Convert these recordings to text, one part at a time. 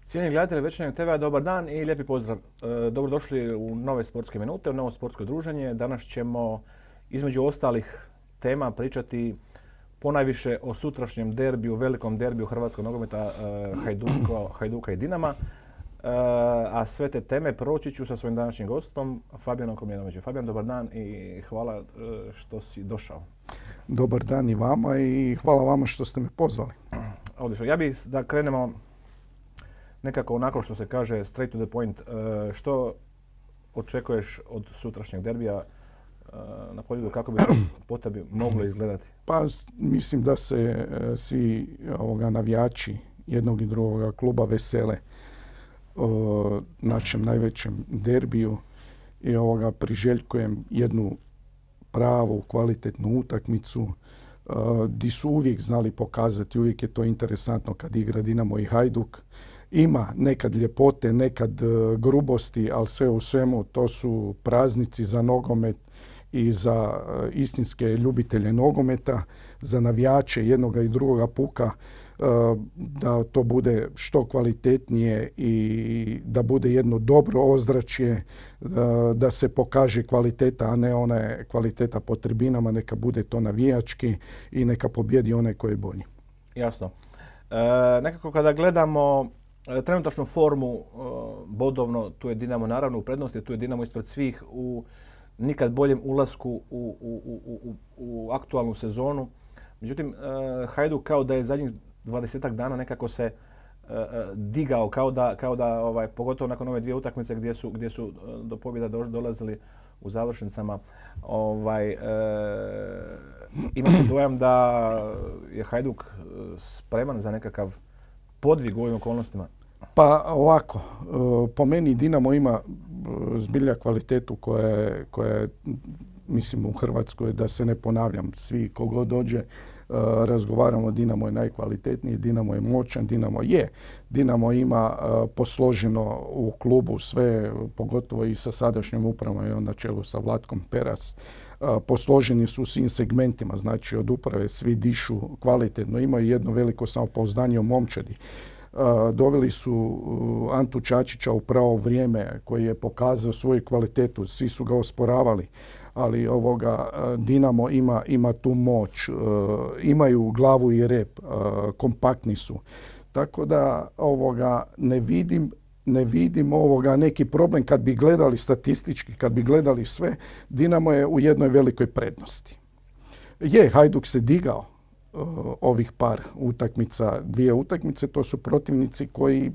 Cijenjeni gledatelji Večernjeg TV, dobar dan i lijepi pozdrav. Dobrodošli u nove sportske minute, u novo sportsko druženje. Danas ćemo između ostalih tema pričati ponajviše o sutrašnjem derbiju, velikom derbiju hrvatskog nogometa Hajduka i Dinama. A sve te teme proći ću sa svojim današnjim gostom, Fabijanom Komljenovićem. Fabijan, dobar dan i hvala što si došao. Dobar dan i vama i hvala vama što ste me pozvali. Odlično. Ja bih da krenemo nekako onako što se kaže straight to the point. Što očekuješ od sutrašnjeg derbija na polju, kako bi to po tebi moglo izgledati? Pa mislim da se svi navijači jednog i drugoga kluba vesele našem najvećem derbiju i priželjkujem jednu pravu, kvalitetnu utakmicu di su uvijek znali pokazati, uvijek je to interesantno kad igra Dinamo i Hajduk. Ima nekad ljepote, nekad grubosti, ali sve u svemu to su praznici za nogomet i za istinske ljubitelje nogometa, za navijače jednoga i drugoga puka, da to bude što kvalitetnije i da bude jedno dobro ozračje, da se pokaže kvaliteta, a ne ona kvaliteta po tribinama, neka bude to navijački i neka pobjedi onaj koji je bolji. Jasno. Nekako kada gledamo trenutačnu formu bodovno, tu je Dinamo naravno u prednosti, tu je Dinamo ispred svih u nikad boljem ulasku u aktualnu sezonu. Međutim, Hajduk kao da je zadnjih 20-ak dana nekako se digao, kao da pogotovo nakon ove dvije utakmice gdje su do pobjeda dolazili u završnicama, ima se dojam da je Hajduk spreman za nekakav podvig u ovim okolnostima. Pa ovako, po meni Dinamo ima zbilja kvalitetu koja je, mislim, u Hrvatskoj, da se ne ponavljam, svi kogod dođe, razgovaramo, Dinamo je najkvalitetniji, Dinamo je moćan, Dinamo ima posloženo u klubu sve, pogotovo i sa sadašnjom upravom na čelu sa Vlatkom Peras. Posloženi su u svim segmentima, znači od uprave svi dišu kvalitetno, imaju jedno veliko samopouzdanje u momčadi. Doveli su Antu Čačića u pravo vrijeme koji je pokazao svoju kvalitetu, svi su ga osporavali, ali Dinamo ima tu moć, imaju glavu i rep, kompaktni su. Tako da ne vidim neki problem kad bi gledali statistički, kad bi gledali sve. Dinamo je u jednoj velikoj prednosti. Hajduk se digao ovih par utakmica, dvije utakmice, to su protivnici koji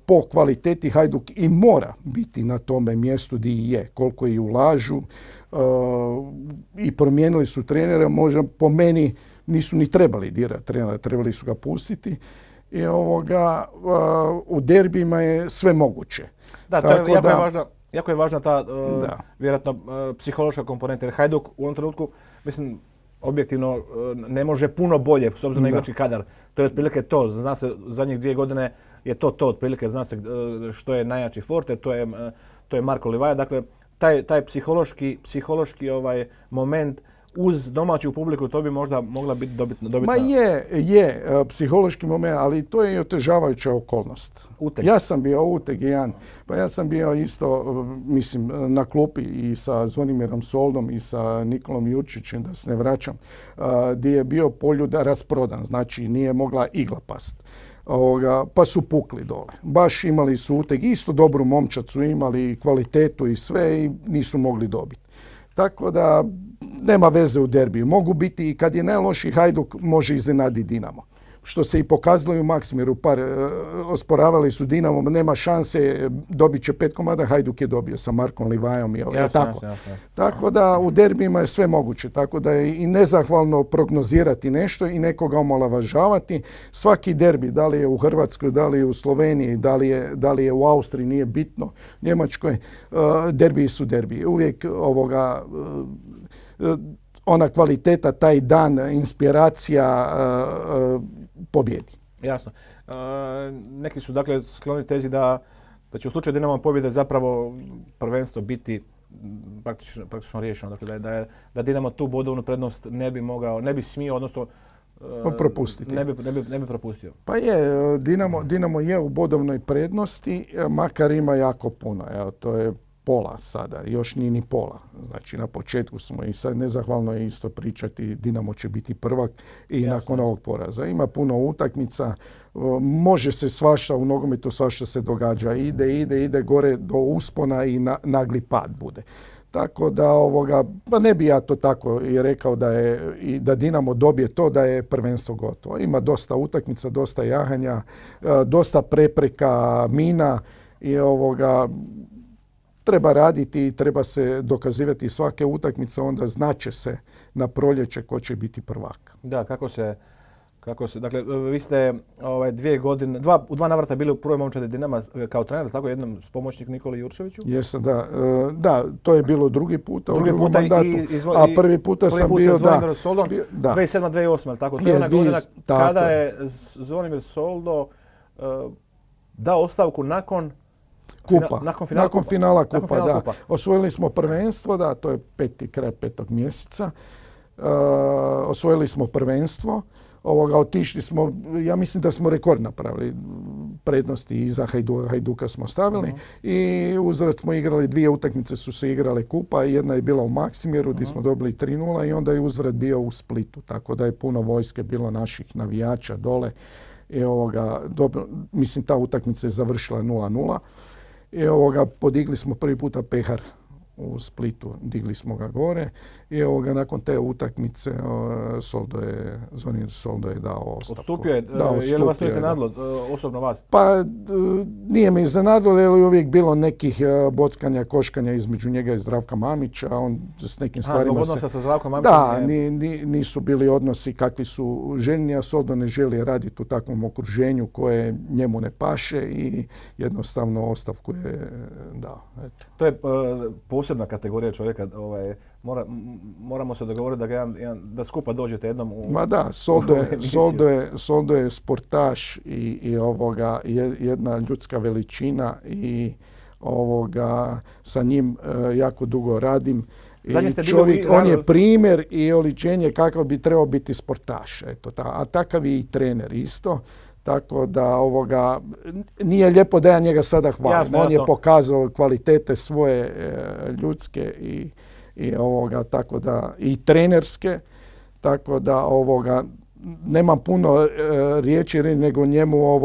po kvaliteti Hajduk i mora biti na tome mjestu gdje je, koliko i ulažu i promijenili su trenera, možda po meni nisu ni trebali dirati trenera, trebali su ga pustiti i u derbijima je sve moguće. Da, to je jako je važna ta vjerojatno psihološka komponenta, jer Hajduk u ovom trenutku, mislim, objektivno ne može puno bolje s obzirom na igrački kadar. To je otprilike to. Zna se, zadnjih 2 godine je to otprilike. Zna se što je najjači Forte, to je Marko Livaja. Dakle, taj psihološki moment uz domaću publiku, to bi možda mogla biti dobitna. Ma je psihološki moment, ali to je i otežavajuća okolnost. Uteg. Ja sam bio uteg jedan. Pa ja sam bio isto, mislim, na klupi i sa Zvonimirom Soldom i sa Nikolom Jurčićem, da se ne vraćam, gdje je bio Poljuda rasprodan, znači nije mogla igla past. Pa su pukli dole. Baš imali su uteg, isto dobru momčad su imali, kvalitetu i sve i nisu mogli dobiti. Tako da nema veze u derbiju. Mogu biti i kad je najlošiji Hajduk, može iznenaditi Dinamo. Što se i pokazalo i u Maksimiru. Osporavali su Dinamo, nema šanse, dobit će 5 komada, Hajduk je dobio sa Markom Livajom. Jasno. Tako da u derbijima je sve moguće. Tako da je i nezahvalno prognozirati nešto i nekoga omalovažavati. Svaki derbi, da li je u Hrvatskoj, da li je u Sloveniji, da li je u Austriji, nije bitno, Njemačkoj, derbiji su derbiji. Uvijek ona kvaliteta, taj dan, inspiracija pobjedi. Jasno. Neki su dakle skloni tezi da će u slučaju Dinamo pobjede zapravo prvenstvo biti praktično riješeno. Dakle, da Dinamo tu bodovnu prednost ne bi smio, odnosno propustiti. Ne bi propustio. Pa je, Dinamo je u bodovnoj prednosti, makar ima jako puno. Evo, to je pola sada, još nije ni pola. Znači na početku smo i sad nezahvalno je isto pričati Dinamo će biti prvak i jasno, nakon ovog poraza. Ima puno utakmica, može se svašta u nogometu, svašta se događa. Ide gore do uspona i nagli pad bude. Tako da pa ne bi ja to tako i rekao da Dinamo dobije to da je prvenstvo gotovo. Ima dosta utakmica, dosta jahanja, dosta prepreka, mina i treba raditi i treba se dokazivati svake utakmice, onda znaće se na proljeće ko će biti prvak. Da, kako se dakle, vi ste 2 godine, u 2 navrata bili u prvoj momčadi Dinama kao trener, tako jednom s pomoćnik Nikoli Jurčeviću? Jesam, da. Da, to je bilo drugi puta u drugom mandatu, a prvi puta sam bio, da. 2007-2008, tako? To je ona godina kada je Zvonimir Soldo dao ostavku nakon finala kupa, da. Osvojili smo prvenstvo, da, to je kraj 5. mjeseca. Osvojili smo prvenstvo. Otišli smo, ja mislim da smo rekord napravili, prednosti iza Hajduka smo stavili i uzvrat smo igrali 2 utakmice su se igrale kupa, jedna je bila u Maksimiru gdje smo dobili 3:0 i onda je uzvrat bio u Splitu, tako da je puno vojske bilo naših navijača dole i mislim ta utakmica je završila 0:0 i podigli smo prvi puta pehar u Splitu, digli smo ga gore i nakon te utakmice Zvonimir Soldo je dao ostavku. Odstupio je, je li vas to iznenadilo, osobno vas? Pa nije me iznenadilo, jer je uvijek bilo nekih bockanja, koškanja između njega i Zdravka Mamića, on s nekim stvarima odnosa sa Zdravkom Mamićem? Da, nisu bili odnosi kakvi su željni, a Soldo ne želi raditi u takvom okruženju koje njemu ne paše i jednostavno ostavku je dao. Eto. To je posebna kategorija čovjeka, moramo se dogovoriti da skupa dođete jednom u... Ma da, Soldo je sportaš i jedna ljudska veličina i sa njim jako dugo radim. On je primjer i oličenje kakav bi trebao biti sportaš. Eto, a takav je i trener isto. Tako da nije lijepo da ja njega sada hvalim. Jasno, on je pokazao kvalitete svoje ljudske tako da i trenerske. Tako da nemam puno riječi nego njemu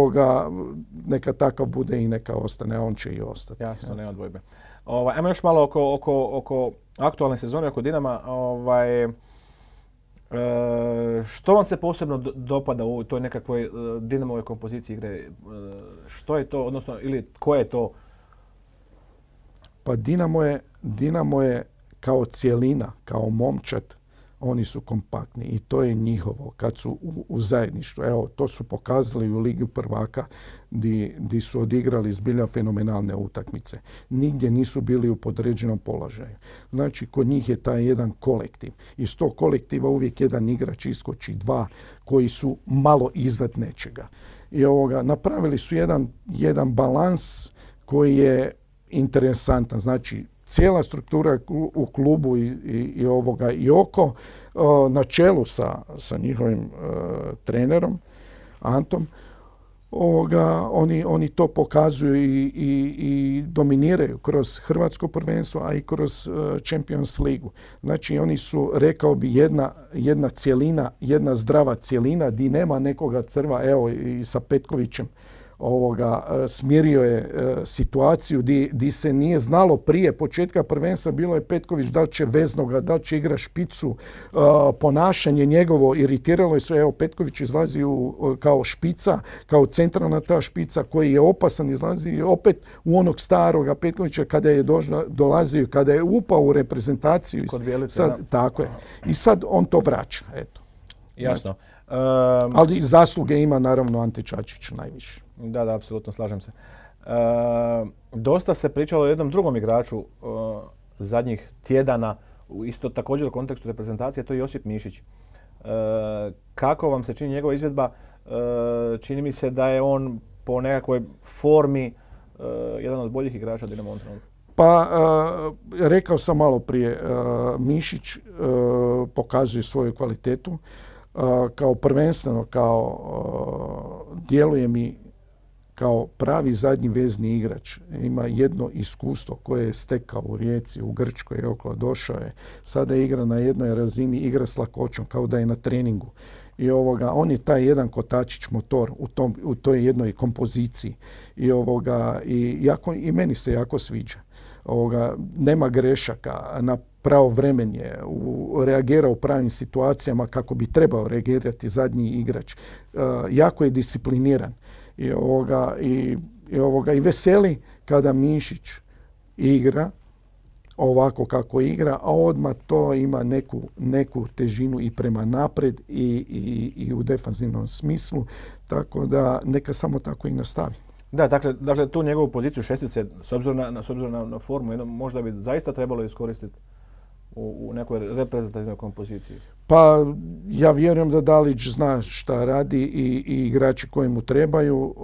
neka takav bude i neka ostane, on će i ostati. Jasno, nema dvojbe. Ajmo još malo oko aktualne sezone, oko Dinama. Što vam se posebno dopada u toj nekakvoj Dinamovoj kompoziciji igre? Što je to, odnosno, ili ko je to? Pa Dinamo je kao cjelina, kao momčad, oni su kompaktni i to je njihovo kad su u zajedništvu. Evo, to su pokazali u Ligi prvaka gdje su odigrali zbilja fenomenalne utakmice. Nigdje nisu bili u podređenom položaju. Znači, kod njih je taj jedan kolektiv. Iz tog kolektiva uvijek jedan igrač iskoči, 2 koji su malo iznad nečega. I napravili su jedan balans koji je interesantan. Znači, cijela struktura u klubu i oko, na čelu sa njihovim trenerom, Antom, oni to pokazuju i dominiraju kroz hrvatsko prvenstvo, a i kroz Champions ligu. Znači, oni su, rekao bi, jedna cjelina, jedna zdrava cjelina, di nema nekoga crva, evo i sa Petkovićem, smirio je situaciju di se nije znalo prije početka prvenstva, bilo je Petković da li će veznoga, da li će igra špicu, ponašanje njegovo iritiralo je sve. Evo, Petković izlazi kao špica, kao centralna ta špica koji je opasan, izlazi opet u onog staroga Petkovića kada je dolazio, kada je upao u reprezentaciju. Kod Bjelice, da. Tako je. I sad on to vraća, eto. Jasno. Ali zasluge ima naravno Ante Čačić najviše. Da, apsolutno, slažem se. Dosta se pričalo o jednom drugom igraču zadnjih tjedana, isto također u kontekstu reprezentacije, to je Josip Mišić. Kako vam se čini njegova izvedba? Čini mi se da je on po nekakvoj formi jedan od boljih igrača Dinamo ovom trenutku. Pa, rekao sam malo prije, Mišić pokazuje svoju kvalitetu. kao prvenstveno, djeluje mi kao pravi zadnji vezni igrač. Ima jedno iskustvo koje je stekao u Rijeci, u Grčkoj je okolo, došao je. Sada igra na jednoj razini, igra s lakoćom, kao da je na treningu. I on je taj jedan kotačić motor u toj jednoj kompoziciji. I meni se jako sviđa. Nema grešaka, na pravovremen je, reagira u pravim situacijama kako bi trebao reagirati zadnji igrač. Jako je discipliniran. I veseli kada Mišić igra ovako kako igra, a odmah to ima neku težinu i prema napred i u defanzivnom smislu, tako da neka samo tako i nastavi. Da, dakle tu njegovu poziciju šestice, s obzirom na formu, možda bi zaista trebalo iskoristiti u nekoj reprezentativnoj kompoziciji. Pa ja vjerujem da Dalić zna šta radi i igrači koji mu trebaju.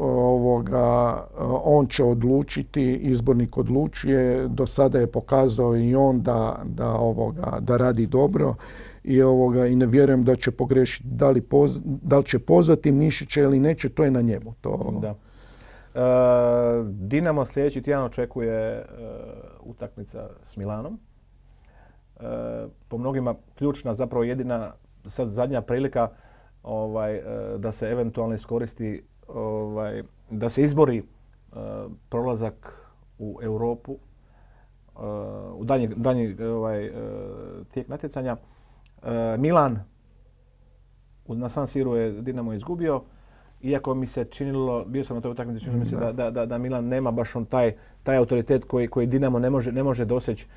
On će odlučiti, izbornik odlučuje. Do sada je pokazao i on da radi dobro i ne vjerujem da će pogrešiti. Da li će pozvati Mišića ili neće, to je na njemu. Da. Dinamo sljedeći tjedan očekuje utakmica s Milanom. Po mnogima ključna, zapravo jedina, sad zadnja prilika da se eventualno iskoristi, da se izbori prolazak u Europu, u danji tijek natjecanja. Milan na San Siru je Dinamo izgubio, iako mi se činilo, bio sam na toj utakmici, činilo mi se da Milan nema baš on taj autoritet koji Dinamo ne može doseći.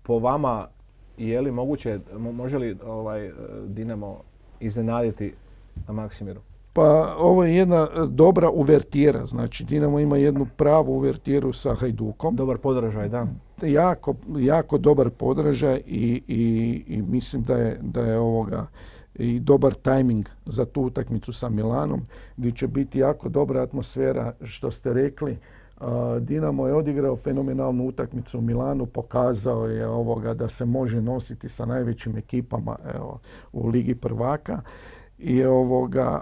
Po vama, je li moguće, može li Dinamo iznenaditi na Maksimiru? Pa ovo je jedna dobra uvertira, znači Dinamo ima jednu pravu uvertiru sa Hajdukom. Dobar podražaj, da. Jako dobar podražaj i mislim da je i dobar tajming za tu utakmicu sa Milanom, gdje će biti jako dobra atmosfera, što ste rekli. Dinamo je odigrao fenomenalnu utakmicu u Milanu, pokazao je da se može nositi sa najvećim ekipama u Ligi prvaka i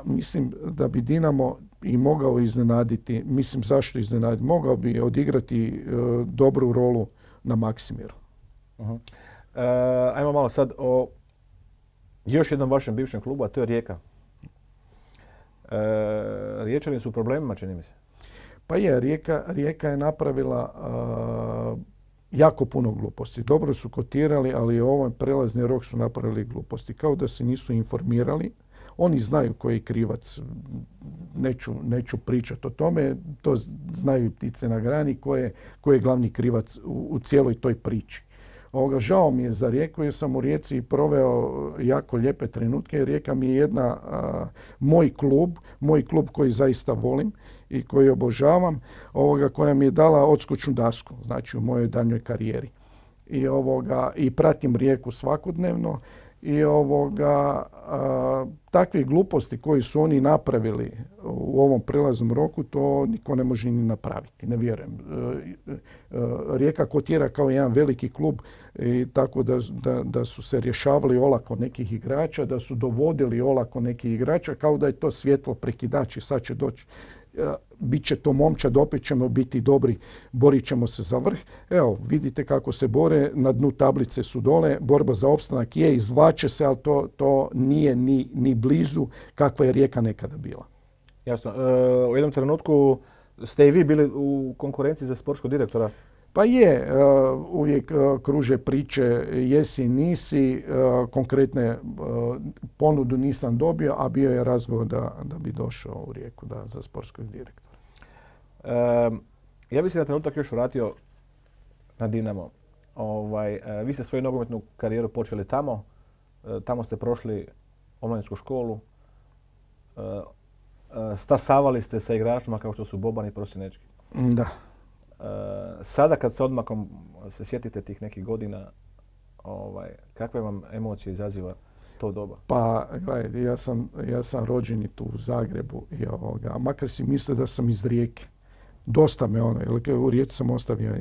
mislim da bi Dinamo i mogao iznenaditi, mislim zašto iznenaditi, mogao bi odigrati dobru rolu na Maksimiru. Ajmo malo sad o još jednom vašem bivšem klubu, a to je Rijeka. Riječani su u problemima, čini mi se. Pa je, Rijeka je napravila jako puno gluposti. Dobro su kotirali, ali u ovom prelazni rok su napravili gluposti. Kao da se nisu informirali. Oni znaju koji je krivac. Neću pričati o tome. To znaju ptice na grani ko je glavni krivac u cijeloj toj priči. Žao mi je za Rijeku jer sam u Rijeci proveo jako lijepe trenutke. Rijeka mi je moj klub koji zaista volim i koji obožavam, koja mi je dala odskočnu dasku, znači u mojoj daljnjoj karijeri. I pratim Rijeku svakodnevno i takve gluposti koji su oni napravili u ovom prelaznom roku, to niko ne može ni napraviti, ne vjerujem. Rijeka kotira kao jedan veliki klub i tako da su se rješavali olako nekih igrača, da su dovodili olako nekih igrača, kao da je to svjetlo prekidač i sad će doći. Biće to momčad, opet ćemo biti dobri, borit ćemo se za vrh. Evo, vidite kako se bore, na dnu tablice su dole, borba za opstanak je, izvlače se, ali to nije ni blizu kakva je Rijeka nekada bila. Jasno. U jednom trenutku ste i vi bili u konkurenciji za sportskog direktora. Pa je, uvijek kruže priče jesi, nisi, konkretne ponudu nisam dobio, a bio je razgovor da bi došao u Rijeku za sportskog direktora. Ja bih se na trenutak još vratio na Dinamo. Vi ste svoju nogometnu karijeru počeli tamo. Tamo ste prošli omladinsku školu. Stasavali ste sa igračima kao što su Boban i Prosinečki. Da. Sada kad s odmakom se sjetite tih nekih godina, kakve vam emocije izaziva to doba? Pa, gledajte, ja sam rođen i tu u Zagrebu i makar si misle da sam iz Rijeke. Dosta me jer u Rijeci sam ostavio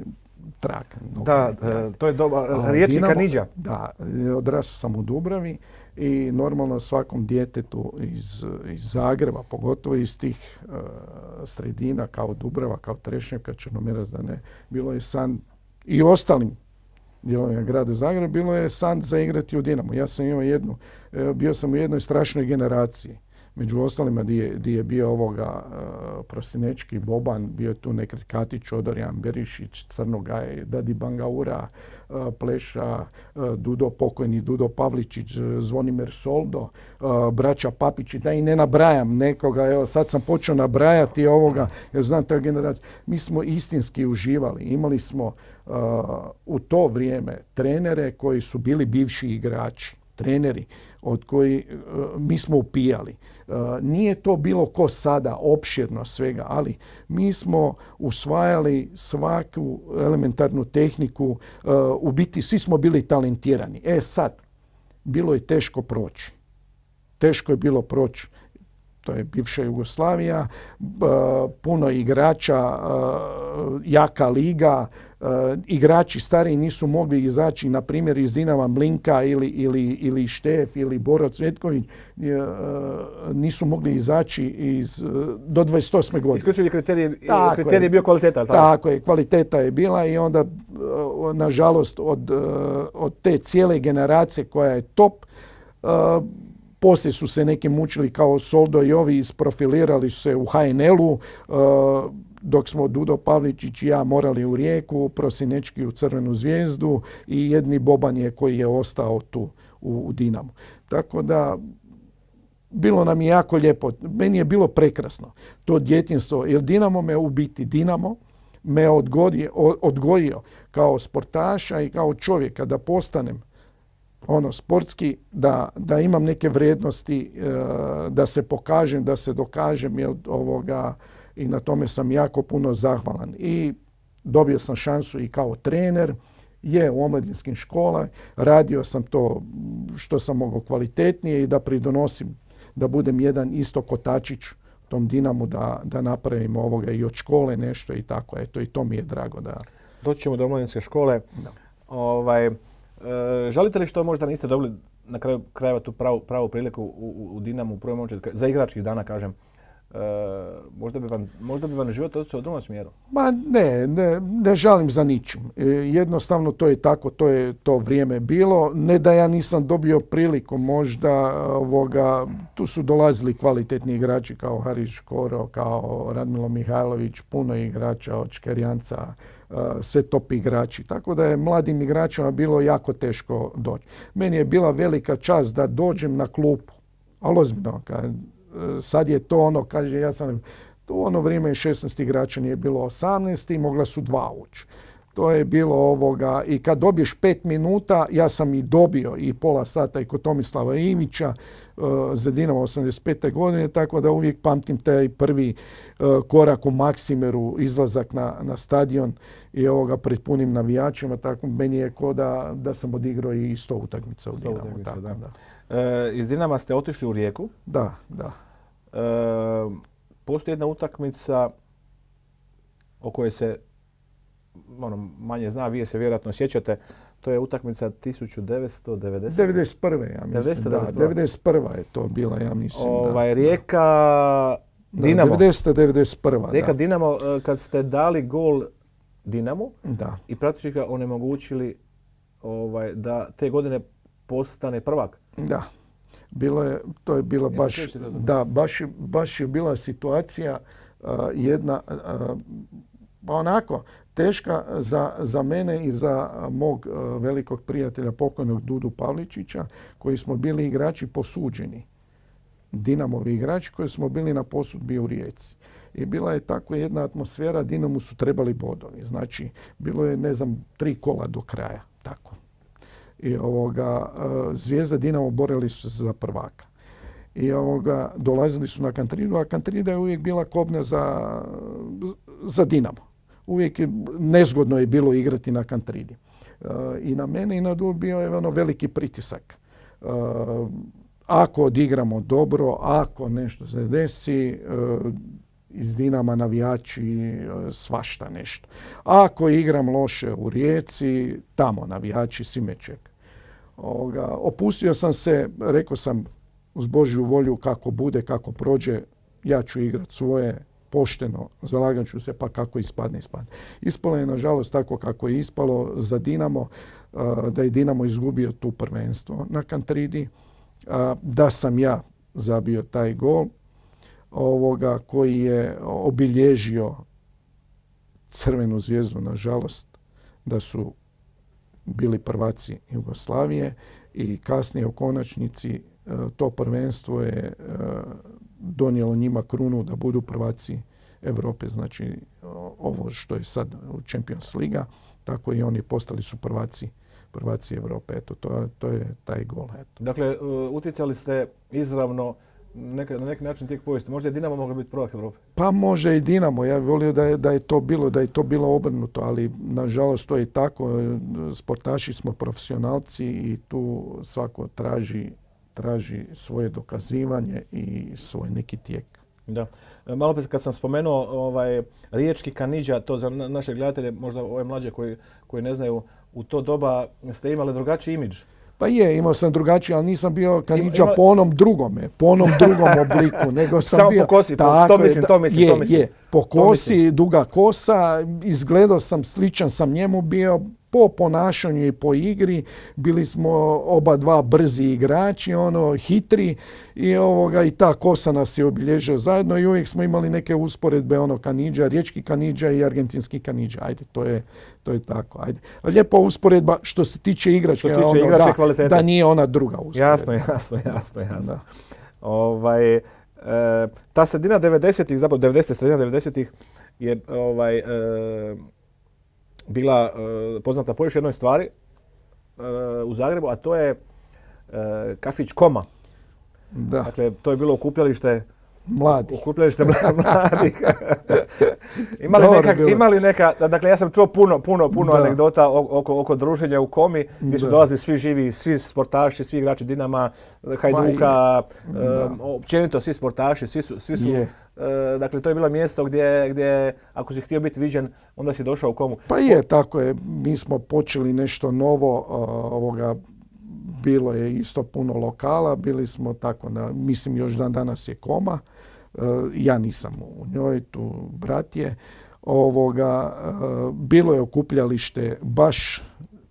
trag. Da, to je riječi Kanidža. Da, odrastao sam u Dubravi i normalno svakom djetetu iz Zagreba, pogotovo iz tih sredina kao Dubrava, kao Trešnjevka, Črnomerac, da ne, bilo je san i ostalim dijelovima grada Zagreba, bilo je san za igrati u Dinamo. Ja sam imao bio sam u jednoj strašnoj generaciji. Među ostalima gdje je bio Prosinečki, Boban, bio je tu Nekret Katić, Odorjan Berišić, Crnogaj, Dadi Bangaura, Pleša, pokojni Dudo Pavličić, Zvonimir Soldo, braća Papići, da i ne nabrajam nekoga, evo sad sam počeo nabrajati jer znam ta generacija. Mi smo istinski uživali, imali smo u to vrijeme trenere koji su bili bivši igrači, treneri od koji mi smo upijali. Nije to bilo ko sada, opširno svega, ali mi smo usvajali svaku elementarnu tehniku, u biti svi smo bili talentirani. Sad, bilo je teško proći. Teško je bilo proći. To je bivša Jugoslavija, puno igrača, jaka liga, igrači stariji nisu mogli izaći, na primjer iz Dinama Mlinka ili Štef ili Boro Cvetković, nisu mogli izaći do 28. godine. Isključivi kriterij je bio kvaliteta. Tako je, kvaliteta je bila i onda, nažalost, od te cijele generacije koja je top, poslije su se neki mučili kao Soldo i ovi, isprofilirali su se u HNL-u, dok smo Dudo Pavličić i ja morali u Rijeku, Prosinečki u Crvenu zvijezdu i jedni Boban je koji je ostao tu u Dinamu. Tako da, bilo nam je jako lijepo. Meni je bilo prekrasno to djetinjstvo, jer Dinamo me odgojio kao sportaša i kao čovjeka da postanem sportski, da imam neke vrijednosti, da se pokažem, da se dokažem, i na tome sam jako puno zahvalan. I dobio sam šansu i kao trener, u omladinskim školama, radio sam to što sam mogao kvalitetnije i da pridonosim, da budem jedan isto kotačić tom Dinamu, da napravim i od škole nešto i tako. Eto, i to mi je drago da... Doći ćemo do omladinske škole. Da. Žalite li što možda niste dobili na kraju krajeva tu pravu priliku u Dinamu u prvom momentu, za igračkih dana kažem, možda bi vam život otišao u drugom smjeru? Ma ne žalim za ničim. Jednostavno to je tako, to je to vrijeme bilo. Ne da ja nisam dobio priliku, možda tu su dolazili kvalitetni igrači kao Haris Škoro, kao Radmilo Mihajlović, puno igrača od Škerjanca, sve top igrači. Tako da je mladim igračima bilo jako teško doći. Meni je bila velika čast da dođem na klupu, ali ozbiljno, sad je to kaže, ja sam, u ono vrijeme 16 igrača nije bilo 18 i mogla su 2 ući. To je bilo i kad dobiješ 5 minuta, ja sam i dobio i pola sata i kod Tomislava Ivića za Dinamo 85. godine, tako da uvijek pamtim taj prvi korak u Maksimeru, izlazak na stadion i pred punim navijačima, tako meni je ko da sam odigrao i 100 utakmica u Dinamu. Iz Dinama ste otišli u Rijeku. Da. Postoji jedna utakmica o kojoj se manje zna, vi se vjerojatno sjećate, to je utakmica 1990. 91. ja mislim. 91. je to bila, ja mislim. Rijeka Dinamo. 91. Rijeka Dinamo, kad ste dali gol Dinamu i praktički ga onemogućili da te godine postane prvak. Da. To je bila baš je bila situacija jedna onako teška za mene i za mog velikog prijatelja pokojnog Dudu Pavličića, koji smo bili igrači posuđeni. Dinamovi igrači koji smo bili na posudbi u Rijeci. I bila je tako jedna atmosfera, Dinamu su trebali bodovi. Znači, bilo je, 3 kola do kraja. Tako. I Zvijezda Dinamo borili su se za prvaka. I dolazili su na Kantridu, a Kantrida je uvijek bila kobna za Dinamo. Uvijek nezgodno je bilo igrati na Kantridi. I na mene i na Dudu bio je veliki pritisak. Ako odigramo dobro, ako nešto se desi, iz Dinama navijači svašta nešto. A ako igram loše u Rijeci, tamo navijači svi me čekaju. Opustio sam se, rekao sam uz Božju volju kako bude, kako prođe, ja ću igrat svoje, pošteno, zalagat ću se, pa kako ispadne. Ispalo je nažalost tako kako je ispalo za Dinamo, da je Dinamo izgubio tu prvenstvo na Kantridi, da sam ja zabio taj gol koji je obilježio Crvenu zvijezdu, nažalost, da su bili prvaci Jugoslavije i kasnije u konačnici to prvenstvo je donijelo njima krunu da budu prvaci Europe, znači ovo što je sad u Champions Liga, tako i oni postali su prvaci Europe. Eto, to je taj gol. Eto. Dakle, utjecali ste izravno na neki način tijek povijesti. Možda je Dinamo moglo biti prvak Europe? Pa može i Dinamo. Ja bih volio da je to bilo obrnuto, ali nažalost to je tako. Sportaši smo profesionalci i tu svako traži svoje dokazivanje i svoj neki tijek. Da. Malo prije kad sam spomenuo riječki Kanidža, to za naše gledatelje, možda ove mlađe koji ne znaju, u to doba ste imali drugačiji imidž. Pa imao sam drugačiji, ali nisam bio Kanidža po onom drugom obliku, nego sam samo bio... po kosi, to mislim. Po kosi, duga kosa, izgledao sam, sličan sam njemu bio, po ponašanju i po igri, bili smo oba dva brzi igrači, hitri i ta kosa nas je obilježila zajedno i uvijek smo imali neke usporedbe, Kanidža, riječki Kanidža i argentinski Kanidža. Ajde, to je tako. Ajde. Lijepa usporedba što se tiče igračke, kvalitete. Da nije ona druga usporedba. Jasno. Ta sredina 90-ih, zapravo sredina 90-ih je bila poznata po još jednoj stvari u Zagrebu, a to je kafić Koma. Da. Dakle, to je bilo okupljalište mladih. Imali neka, dakle ja sam čuo puno anegdota oko druženja u Komi, gdje su dolazili svi živi, svi sportaši, svi igrači Dinama, Hajduka, općenito svi sportaši, svi su dakle, to je bilo mjesto gdje ako si htio biti viđen, onda si došao u Komu. Pa tako je. Mi smo počeli nešto novo, bilo je isto puno lokala, bili smo tako, mislim još danas je Koma, ja nisam u njoj, tu brat je. Bilo je okupljalište baš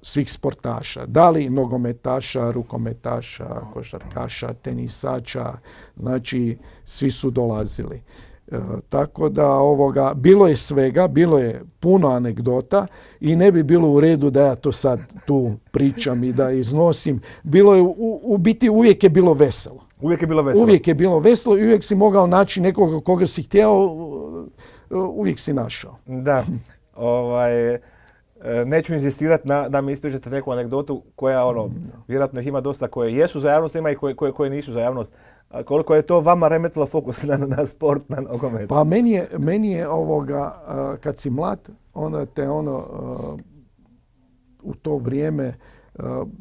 svih sportaša, da li nogometaša, rukometaša, košarkaša, tenisača, znači svi su dolazili. Tako da bilo je svega, bilo je puno anegdota i ne bi bilo u redu da ja to sad tu pričam i da iznosim. Bilo je, u biti uvijek je bilo veselo. Uvijek je bilo veselo i uvijek si mogao naći nekoga koga si htjeo, uvijek si našao. Da, neću inzistirati da mi ispričate neku anegdotu koja vjerojatno ih ima dosta koje jesu za javnost, ima i koje nisu za javnost. Koliko je to vama remetilo fokus na sport, na nogomet? Pa meni je kad si mlad, onda te u to vrijeme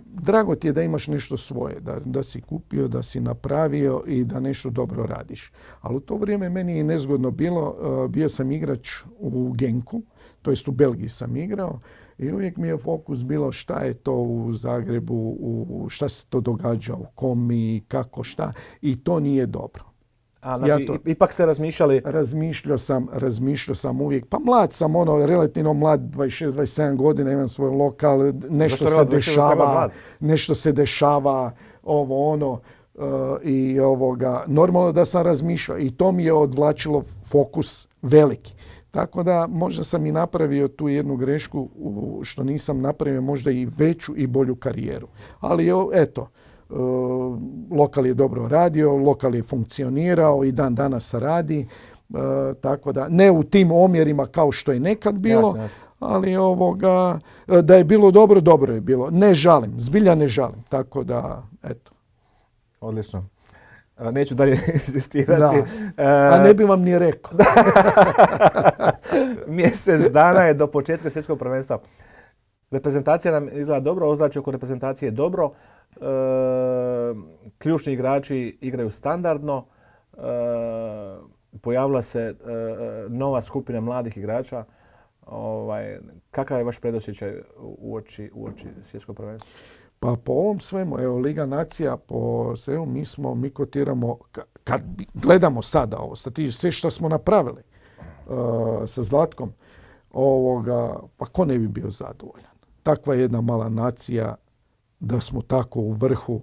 drago ti je da imaš nešto svoje, da si kupio, da si napravio i da nešto dobro radiš. Ali u to vrijeme meni je nezgodno bilo, bio sam igrač u Genku, to jest u Belgiji sam igrao i uvijek mi je fokus bilo šta je to u Zagrebu, šta se to događa u Komi, kako šta i to nije dobro. Ipak ste razmišljali? Razmišljao sam uvijek. Pa mlad sam, relativno mlad, 26-27 godina, imam svoj lokal, nešto se dešava, i normalno da sam razmišljao i to mi je odvlačilo fokus veliki. Tako da možda sam i napravio tu jednu grešku što nisam napravio možda i veću i bolju karijeru. Ali eto, lokal je dobro radio, lokal je funkcionirao i dan danas radi. Tako da ne u tim omjerima kao što je nekad bilo, ali da je bilo dobro, dobro je bilo. Ne žalim, zbilja ne žalim. Tako da, eto. Odlično. Neću dalje insistirati. A ne bi vam ni rekao. Mjesec dana je do početka svjetskog prvenstva. Reprezentacija nam izgleda dobro, ozračje oko reprezentacije je dobro. Ključni igrači igraju standardno. pojavila se nova skupina mladih igrača. Kakav je vaš predosjećaj uoči svjetskog prvenstva? Pa po ovom svemu, evo Liga nacija, po svemu mi kotiramo, kad gledamo sada ovo, sve što smo napravili sa Zlatkom, pa ko ne bi bio zadovoljan? Takva jedna mala nacija, da smo tako u vrhu,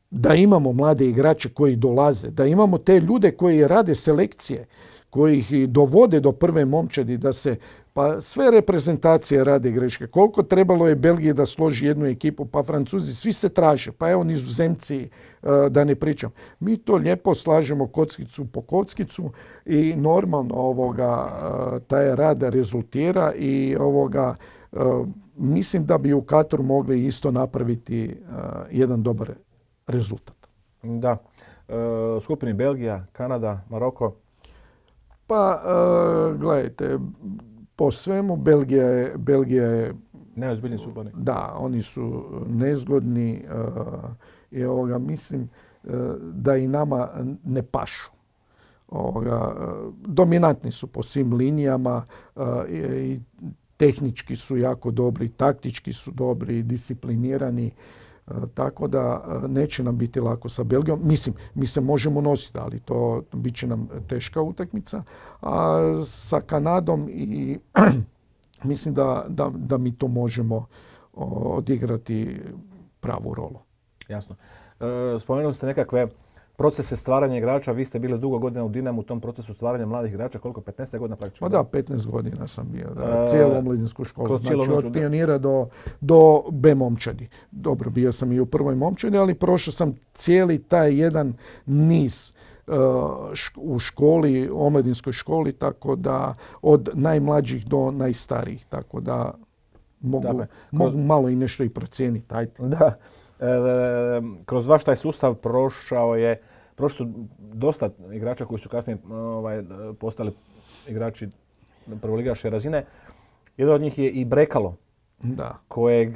da imamo mlade igrače koji dolaze, da imamo te ljude koji rade selekcije, koji ih dovode do prve momčadi, da se, pa sve reprezentacije rade greške. Koliko trebalo je Belgiji da složi jednu ekipu, pa Francuzi, svi se traže, pa evo Nizozemci, da ne pričam. Mi to lijepo slažemo kockicu po kockicu i normalno taj rad rezultira i mislim da bi u Kataru mogli isto napraviti jedan dobar rezultat. Da. Skupini Belgija, Kanada, Maroko. Pa, gledajte, po svemu Belgija je neozbiljni suparnik. Da, oni su nezgodni i mislim da i nama ne pašu. Dominantni su po svim linijama i tehnički su jako dobri, taktički su dobri, disciplinirani. Tako da neće nam biti lako sa Belgijom. Mislim, mi se možemo nositi, ali to bit će nam teška utakmica. A sa Kanadom i mislim da mi to možemo odigrati pravu rolu. Jasno. Spomenuli ste nekakve procese stvaranja igrača. Vi ste bili dugo godina u Dinamu u tom procesu stvaranja mladih igrača. Koliko? 15 godina praktično? Da, 15 godina sam bio. Cijelu omladinsku školu. Znači od pionira do B momčadi. Dobro, bio sam i u prvoj momčadi, ali prošao sam cijeli taj jedan niz u školi, omladinskoj školi, tako da od najmlađih do najstarijih. Tako da mogu malo i nešto i procijeniti. Da. Kroz vaš taj sustav prošli su dosta igrača koji su kasnije postali igrači prvoligaške razine. Jedan od njih je i Brekalo, kojeg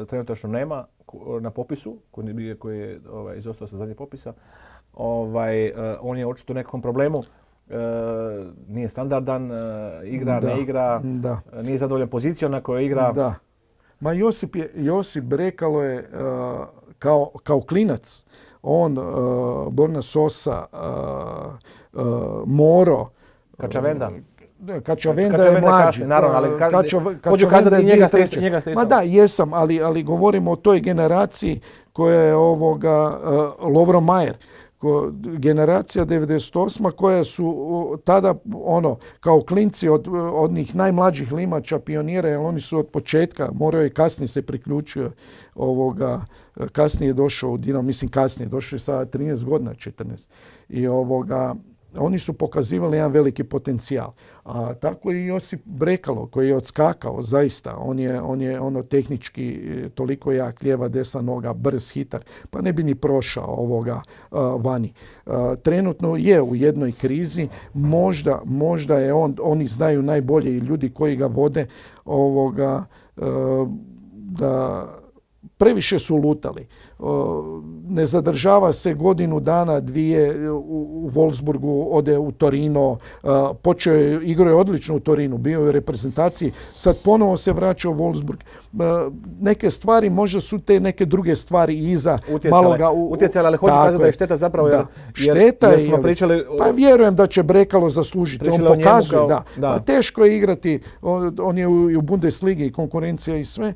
trenutačno nema na popisu, koji je izostao sa zadnjeg popisa. On je očito u nekom problemu. Nije standardan, igra, ne igra, nije zadovoljan pozicijom na kojoj igra. Da. Ma Josip Brekalo je kao klinac. On, Borna Sosa, Moro. Kačavenda je mlađi. Hoću kazati njega ste isto. Ma da, jesam, ali govorimo o toj generaciji koja je Lovro Majer. Generacija 98. koja su tada kao klinci od onih najmlađih limača, pionira, jer oni su od početka, morao je kasnije se priključio, kasnije je došao u Dinamo, mislim kasnije, došao je sa 13 godina, 14. I oni su pokazivali jedan veliki potencijal. A tako i Josip Brekalo koji je odskakao, zaista. On je tehnički toliko jak, lijeva, desna noga, brz, hitar, pa ne bi ni prošao vani. Trenutno je u jednoj krizi, možda je oni znaju najbolje i ljudi koji ga vode, da previše su lutali. Ne zadržava se godinu dana, dvije u Wolfsburgu, ode u Torino, igrao je odlično u Torinu, bio je u reprezentaciji, sad ponovo se vraća u Wolfsburg. Neke stvari, možda su te neke druge stvari iza utjecale, ali hoću kazati da je šteta zapravo jer smo pričali... Pa vjerujem da će Brekalo zaslužiti, on pokazuje, Pa teško je igrati, on je u Bundesligi i konkurencija i sve,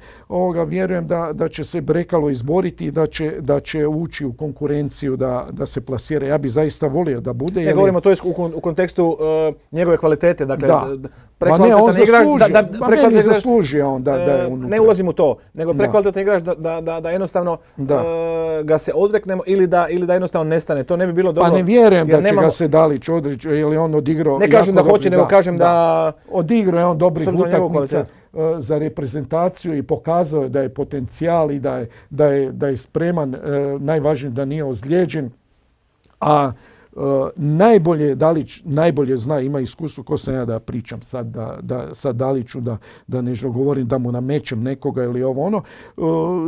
vjerujem da će se Brekalo izboriti i da će ući u konkurenciju da se plasira. Ja bih zaista volio da bude. Ne govorimo to u kontekstu njegove kvalitete. Dakle, Ma ne, on zaslužio. Meni zaslužio on da je unutra. Ne ulazim u to, nego prekvalitetan igrač da jednostavno ga se odreknemo ili da jednostavno nestane. To ne bi bilo dobro. Pa ne vjerujem da će ga se Dalić odreći, jer je on odigrao... Ne kažem da hoće, nego kažem da... Odigrao je on dobrih utakmica za reprezentaciju i pokazao je da je potencijal i da je spreman, najvažnije da nije ozlijeđen. A Dalić najbolje zna, ima iskustvo, ko sam ja da pričam sad Daliću, da ne govorim da mu namećem nekoga ili ovo ono.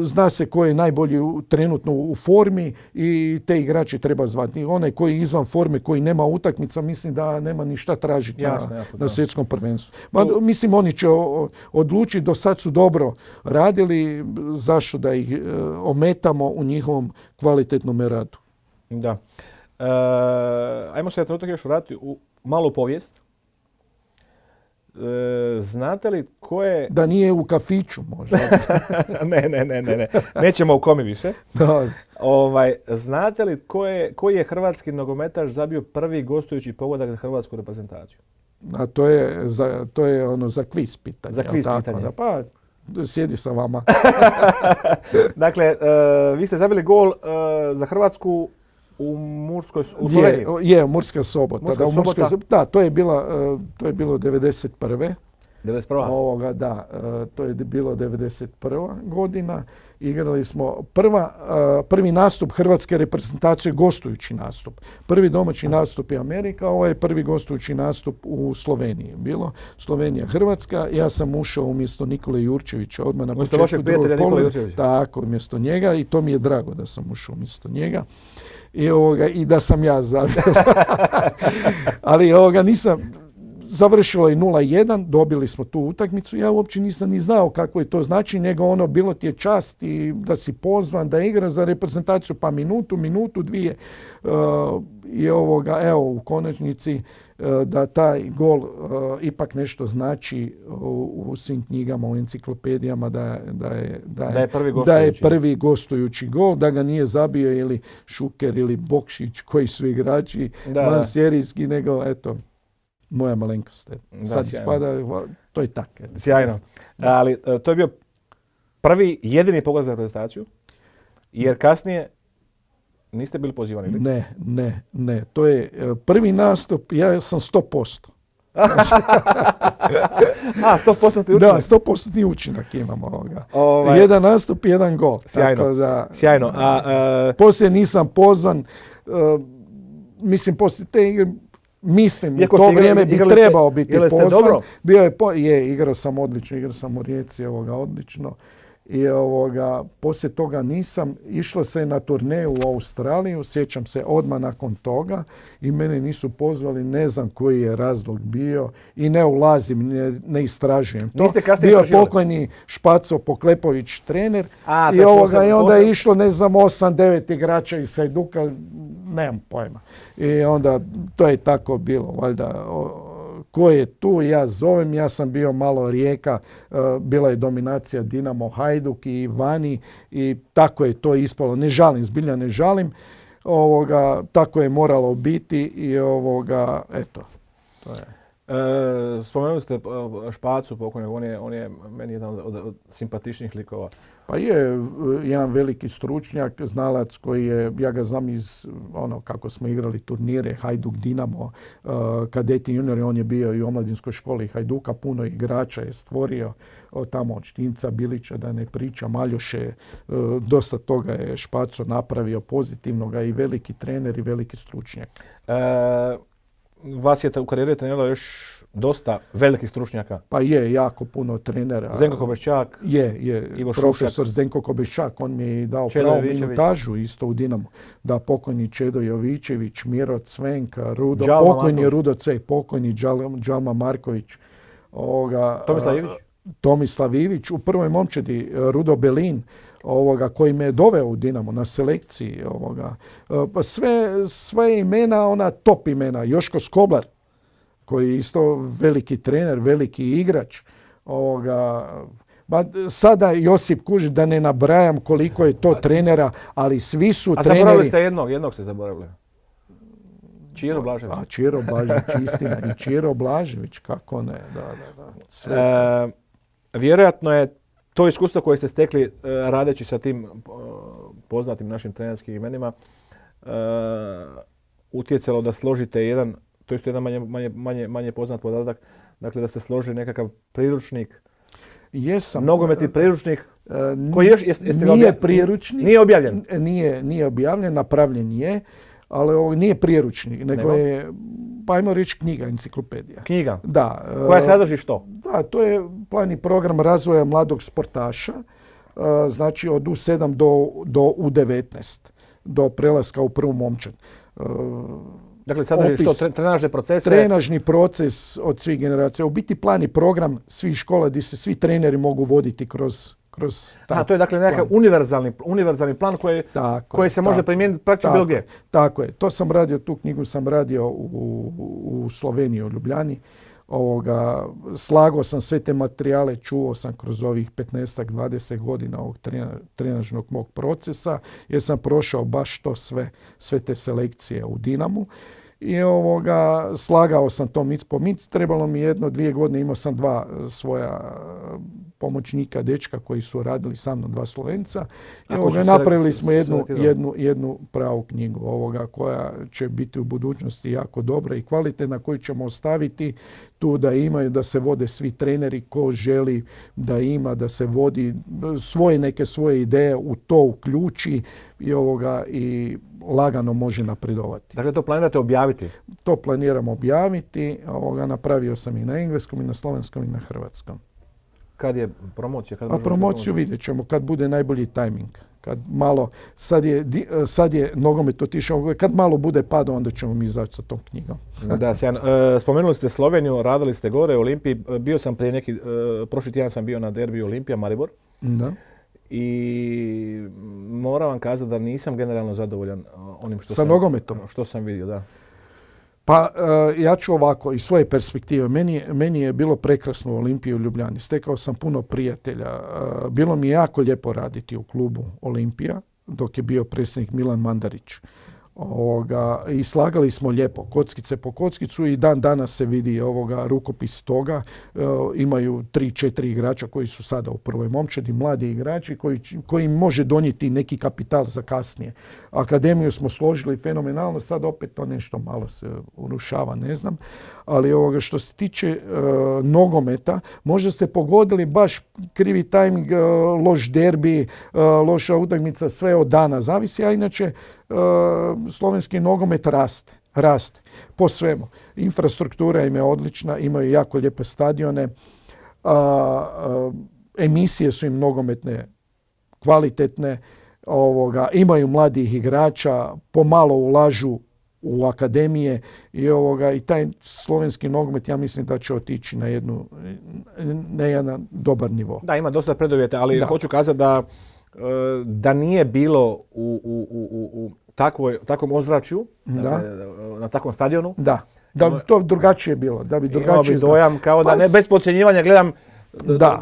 Zna se ko je najbolji trenutno u formi i te igrače treba zvati. Onaj koji je izvan forme, koji nema utakmica, mislim da nema ni šta tražiti na svjetskom prvenstvu. Mislim, oni će odlučiti, do sad su dobro radili, zašto da ih ometamo u njihovom kvalitetnom radu. Da. Ajmo se trenutak još vratiti u malu povijest. Znate li ko je... Da nije u kafiću možda. Ne. Nećemo u komi više. Znate li koji je hrvatski nogometaš zabio prvi gostujući pogodak za hrvatsku reprezentaciju? A to je ono za kviz pitanje. Za kviz pitanje. Pa sjedi sa vama. Dakle, vi ste zabili gol za Hrvatsku u Sloveniji. Je, Murska Sobota. Da, to je bilo 91. 91. Da, to je bilo 91. godina. Igrali smo prvi nastup hrvatske reprezentacije, gostujući nastup. Prvi domaći nastup je Amerika, ovo je prvi gostujući nastup u Sloveniji. Bilo Slovenija-Hrvatska. Ja sam ušao umjesto Nikole Jurčevića odmah na početku drugog poluvremena. Tako, umjesto njega, i to mi je drago da sam ušao umjesto njega. I da sam ja zabio. Ali nisam... Završilo je 0-1, dobili smo tu utakmicu. Ja uopće nisam ni znao kako je to znači, nego bilo ti je čast i da si pozvan, da igraš za reprezentaciju pa minutu, dvije. U konačnici da taj gol ipak nešto znači u svim knjigama, u enciklopedijama, da je prvi gostujući gol, da ga nije zabio ili Šuker ili Bokšić koji su igrači vanserijski, nego eto, moja malenkost. Sad ispada, to je tako. Sjajno. Ali to je bio jedini pogled za reprezentaciju, jer kasnije niste bili pozivani? Ne. To je prvi nastup, ja sam 100%. 100% učinak? Da, 100% učinak imamo ovoga. Jedan nastup, jedan gol. Sjajno. Poslije nisam pozvan, mislim, poslije te igre, u to vrijeme bi trebao biti pozvan. Igrao sam odlično, igrao sam u Rijeci odlično. I poslije toga nisam. Išlo se na turneju u Australiju, sjećam se odmah nakon toga i mene nisu pozvali, ne znam koji je razlog bio i ne ulazim, ne istražujem to. Bio pokojni Špaco Poklepović trener i onda je išlo 8-9 igrača iz Hajduka, nemam pojma. I onda to je tako bilo, valjda. Ko je tu, ja zovem, ja sam bio malo Rijeka, bila je dominacija Dinamo, Hajduk i vani i tako je to ispalo. Ne žalim, zbilja ne žalim, tako je moralo biti i eto, to je. Spomenuli ste Špacu pokojnog, on je meni jedan od simpatičnih likova. Pa je jedan veliki stručnjak, znalac koji je, ja ga znam iz kako smo igrali turnire, Hajduk, Dinamo, kadeti, juniori, on je bio i u omladinskoj školi Hajduka, puno igrača je stvorio tamo od Štinca, Bilića, da ne pričam, Aljoše, dosta toga je Špaco napravio pozitivnoga i veliki trener i veliki stručnjak. Vas je u karijeri treniralo još dosta velikih stručnjaka. Pa je, jako puno trenera. Zdenko Kobeščak, Ivo profesor Zdenko Kobeščak, on mi je dao pravu minutažu isto u Dinamu. Da, pokojni Čedo Jovičević, Miro Cvenk, pokojni Rudo Cek, pokojni Džalma Marković. Tomislav Ivić, u prvoj momčadi Rudo Belin, koji me je doveo u Dinamo na selekciji. Pa sve imena, top imena. Joško Skoblar, koji je isto veliki trener, veliki igrač. Sada Josip Kužić, da ne nabrajam koliko je to trenera, ali svi su treneri... A zaboravili ste jednog ste zaboravili. Čiro Blažević. Čiro Blažević, istina. I Čiro Blažević, kako ne. Da. Vjerojatno je to iskustvo koje ste stekli radeći sa tim poznatim našim trenerskim imenima utjecalo da složite jedan, to je jedan manje poznat podatak, dakle da ste složili nekakav priručnik, nogometni priručnik koji nije priručnik, nije objavljen. Nije objavljen, napravljen je. ali ovo nije priručnik, nego je, pa ajmo reći knjiga, enciklopedija. Knjiga? Da. Koja sadrži što? Da, to je plan i program razvoja mladog sportaša, znači od U7 do U19, do prelaska u prvu momčad. Dakle, sadrži što? Trenažne procese? Trenažni proces od svih generacija. U biti plan i program svih škola gdje se svi treneri mogu voditi kroz to je dakle nekakav univerzalni plan koji se može primijeniti praktično bilo gdje. Tako je. To sam radio, tu knjigu sam radio u Sloveniji, u Ljubljani. Slagao sam sve te materijale, čuo sam kroz ovih 15-20 godina ovog trenažnog mog procesa, jer sam prošao baš to sve te selekcije u Dinamu. I slagao sam to mic po mic. Trebalo mi 1-2 godine, imao sam 2 svoja pomoćnika, dečka koji su radili sa mnom, 2 Slovenca. I napravili smo jednu pravu knjigu koja će biti u budućnosti jako dobra i kvalitetna, koju ćemo ostaviti tu da se vode svi treneri ko želi da ima, da se vodi neke svoje ideje u to uključi i lagano može napredovati. Dakle, to planirate objaviti? To planiram objaviti. Napravio sam i na engleskom, i na slovenskom, i na hrvatskom. Kad je promocija? Promociju vidjet ćemo kad bude najbolji tajming. Kad malo, sad je nogomet otišao, kad malo bude padao, onda ćemo mi izaći sa tom knjigom. Da, sjajno. Spomenuli ste Sloveniju, radili ste gore u Olimpiji. Bio sam prošli tjedan sam bio na derbiju Olimpija Maribor. Da. I moram vam kazati da nisam generalno zadovoljan onim što sam vidio. Da. Pa ja ću ovako, iz svoje perspektive, meni je bilo prekrasno u Olimpiji u Ljubljani. Stekao sam puno prijatelja. Bilo mi je jako lijepo raditi u klubu Olimpija, dok je bio predsjednik Milan Mandarić. I slagali smo lijepo, kockice po kockicu, i dan danas se vidi rukopis toga. Imaju 3-4 igrača koji su sada u prvoj momčadi, mladi igrači koji može donijeti neki kapital za kasnije. Akademiju smo složili fenomenalno, sad opet to nešto malo se urušava, ne znam. Ali što se tiče nogometa, možda ste pogodili baš krivi tajming, loš derbi, loša utakmica, sve od dana zavisi, a inače slovenski nogomet raste po svemu. Infrastruktura im je odlična, imaju jako lijepe stadione, emisije su im nogometne kvalitetne, imaju mladih igrača, pomalo ulažu u akademije i taj slovenski nogomet, ja mislim da će otići na jedan dobar nivo. Da, ima dosta preduvjeta, ali hoću kazati da nije bilo u takvom ozračju, na takvom stadionu. Da bi to drugačije bilo. Da bi drugačije dojam, kao da ne bez podcjenjivanja gledam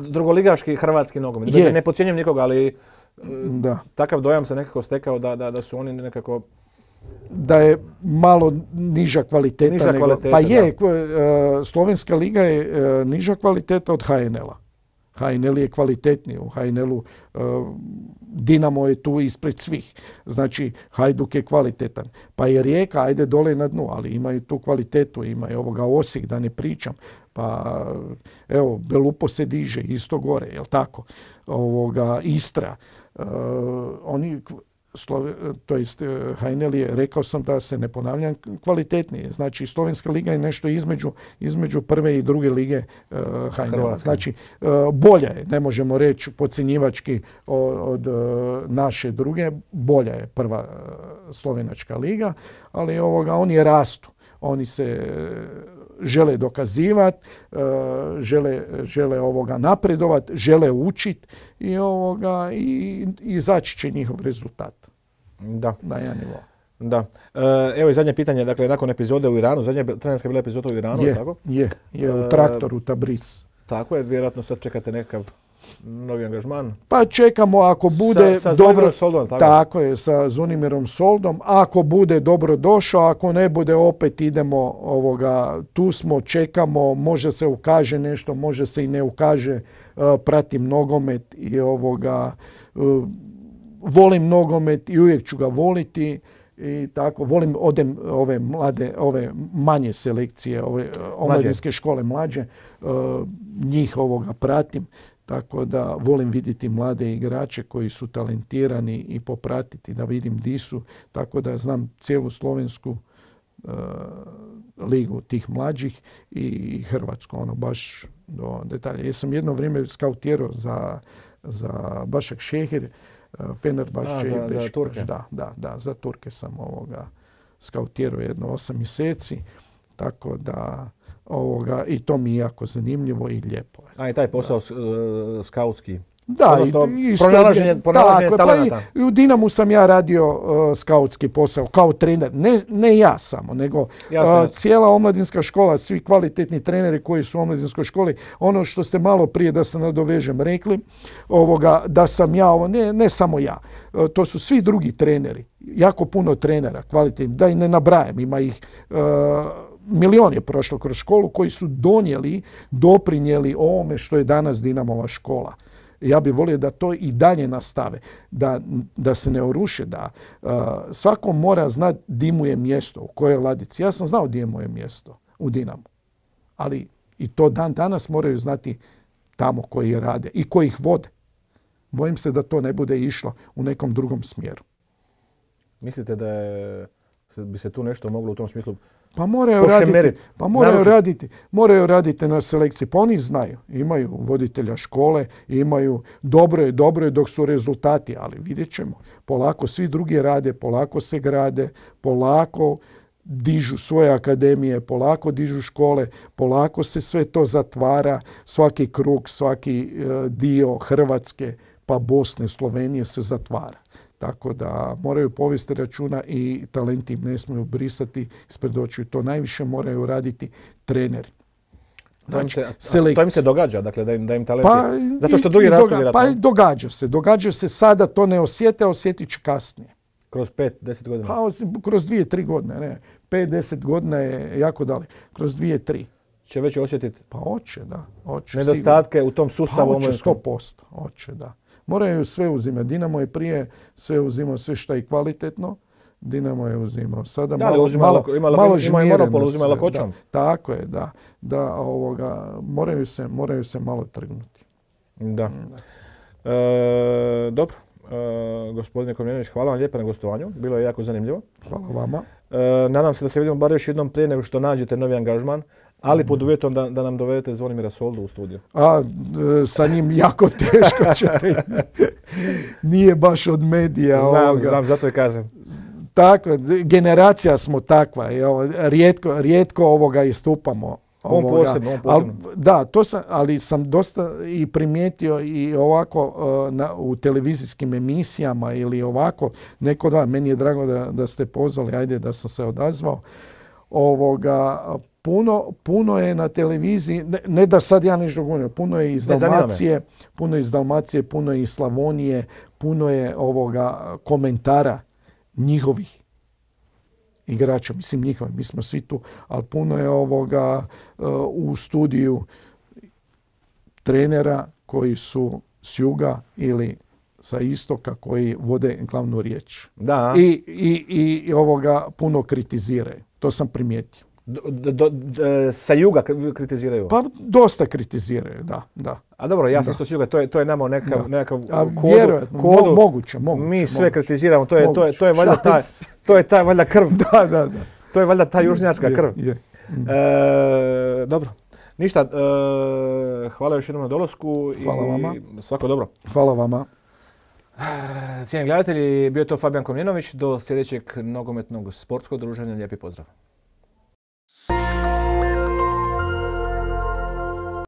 drugoligaški hrvatski nogomet. Ne podcjenjujem nikoga, ali takav dojam se nekako stekao da su oni nekako... Da je malo niža kvaliteta. Pa je, Slovenska liga je niža kvaliteta od HNL-a. HNL je kvalitetniji. U HNL-u Dinamo je tu ispred svih. Znači, Hajduk je kvalitetan. Pa je Rijeka, ajde dole na dnu, ali imaju tu kvalitetu. Imaju Osijek, da ne pričam. Pa, evo, Belupo se diže, isto gore, jel tako? Istra. HNL je, rekao sam da se ne ponavljam, kvalitetnije. Znači, Slovenska liga je nešto između prve i druge lige HNL-a. Znači, bolja je, ne možemo reći podcjenjivački od naše druge, bolja je prva slovenačka liga, ali oni rastu. Oni se žele dokazivati, žele napredovati, žele učiti i izaći će njihov rezultat. Da. Na jedan nivo. Da. Evo i zadnje pitanje, dakle, nakon epizode u Iranu, zadnja trenerska bila epizoda u Iranu, tako? Je, u traktoru Tabriz. Tako je, vjerojatno sad čekate nekakav novi angažman. Pa čekamo ako bude sa dobro. Soldom, tako je, sa Zvonimirom Soldom. Ako bude dobro došao, ako ne bude opet idemo, tu smo, čekamo, može se ukaže nešto, može se i ne ukaže, pratim nogomet i volim nogomet i uvijek ću ga voliti. I tako, odem ove manje selekcije, ove omladinske škole mlađe, njih pratim. Tako da volim vidjeti mlade igrače koji su talentirani i popratiti da vidim di su. Tako da znam cijelu slovensku ligu tih mlađih i Hrvatsku, ono baš do detalja. Ja sam jedno vrijeme skautirao za Başak Šehir, Fenerbahče i za Turke. Da, za Turke sam skautirao jedno 8 mjeseci. Tako da i to mi je jako zanimljivo i lijepo. A i taj posao skautski. Da, pronalaženje talenata. Pa i u Dinamu sam ja radio skautski posao kao trener. Ne ja samo, nego cijela omladinska škola, svi kvalitetni treneri koji su u omladinskoj školi. Ono što ste malo prije, da se nadovežem, rekli, da sam ja, ne samo ja, to su svi drugi treneri, jako puno trenera kvalitetnih, da i ne nabrajam, ima ih milion je prošlo kroz školu koji su doprinijeli ovome što je danas Dinamova škola. Ja bih volio da to i dalje nastave, da se ne oruše, da svako mora znati di mu je mjesto, u kojoj ladici. Ja sam znao di je moje mjesto u Dinamu, ali i to dan danas moraju znati tamo koji rade i koji ih vode. Bojim se da to ne bude išlo u nekom drugom smjeru. Mislite da bi se tu nešto moglo u tom smislu Pa moraju raditi na selekciji. Pa oni znaju. Imaju voditelja škole, imaju dobro je dok su rezultati, ali vidjet ćemo. Polako svi drugi rade, polako se grade, polako dižu svoje akademije, polako dižu škole, polako se sve to zatvara, svaki krug, svaki dio Hrvatske, pa Bosne, Slovenije se zatvara. Tako da moraju povesti računa i talenti im ne smiju brisati ispred očiju. To najviše moraju raditi treneri. Znači, to im se događa, dakle, da im talenti... Zato što drugi radu vjerojatno... Pa događa se sada, to ne osjete, osjetit će kasnije. Kroz 5-10 godina? Pa kroz 2-3 godine, ne. 5-10 godina je jako daleko. Kroz 2-3. Će već osjetiti? Pa hoće, da. Nedostatke sigurno u tom sustavu? Pa hoće 100%, hoće, da. Moraju sve uzimati. Dinamo je prije sve uzimao sve što je kvalitetno. Dinamo je uzimao. Sada malo monopol, uzima lakoćom. Tako je, da. Moraju se malo trgnuti. Da. Dobro. Gospodine Komljenović, hvala vam lijepo na gostovanju. Bilo je jako zanimljivo. Hvala vama. Nadam se da se vidimo bar još jednom prije nego što nađete novi angažman, ali pod uvjetom da nam dovedete Zvonimira Soldu u studiju. Sa njim jako teško ćete. Nije baš od medija. Znam, zato i kažem. Tako, generacija smo takva. Rijetko istupamo. On posebno. Da, ali sam dosta i primijetio i ovako u televizijskim emisijama ili ovako, meni je drago da ste pozvali, ajde da sam se odazvao. Puno je na televiziji, ne da sad ja nešto govorim, puno je iz Dalmacije, puno je iz Slavonije, puno je komentara njihovih igrača, mislim njihovi, mi smo svi tu, ali puno je u studiju trenera koji su s juga ili sa istoka koji vode glavnu riječ. Da. I puno kritiziraju. To sam primijetio. Sa juga kritiziraju? Pa dosta kritiziraju, da. A dobro, ja sam isto s juga, to je nama nekakav kodu. Moguće. Mi sve kritiziramo, to je ta valjda krv. Da. To je valjda ta južnjačka krv. Dobro. Ništa, hvala još jednom na dolasku. Hvala vama. Svako dobro. Hvala vama. Cijenjeni gledatelji, bio je to Fabijan Komljenović. Do sljedećeg nogometnog sportskog druženja. Lijepi pozdrav.